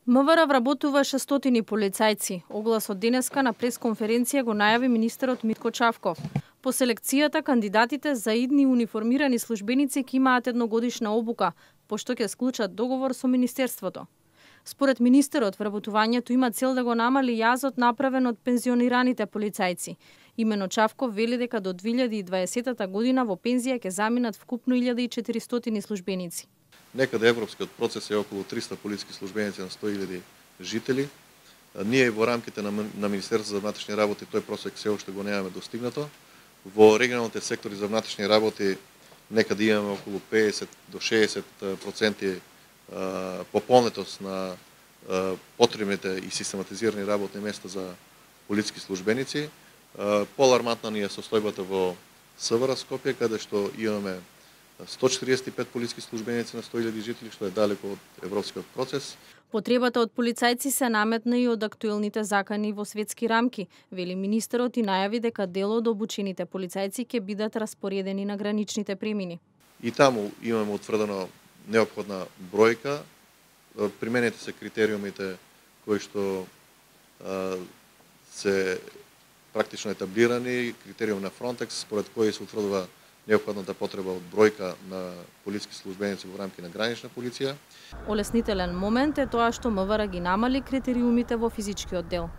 МВР вработува 600 полицајци. Огласот денеска на пресконференција го најави министерот Митко Чавков. По селекцијата, кандидатите за идни униформирани службеници ќе имаат едногодишна обука, пошто ќе склучат договор со министерството. Според министерот, вработувањето има цел да го намали јазот направен од пензионираните полицајци. Имено Чавков вели дека до 2020 година во пензија ќе заминат вкупно 1400 службеници. Некаде европскиот процес е околу 300 полициски службеници на 100.000 жители. Ние во рамките на Министерството за внатрешни работи тој просек се уште го немаме достигнато. Во регионалните сектори за внатрешни работи некаде имаме околу 50 до 60% пополнетост на потребните и систематизирани работни места за полициски службеници. Поалармантна ни е состојбата во СВР Скопје, каде што имаме 145 полициски службеници на 100.000 жители, што е далеко од европскиот процес. Потребата од полицајци се наметна и од актуелните закани во светски рамки, вели министерот и најави дека дел од обучените полицајци ќе бидат распоредени на граничните премини. И таму имаме утврдено неопходна бројка, применети се критериумите кои што се практично етаблирани, критериум на Frontex, според кои се утврдува неопходната потреба од бројка на полициски службеници во рамки на гранична полиција. Олеснителен момент е тоа што МВР ги намали критериумите во физичкиот дел.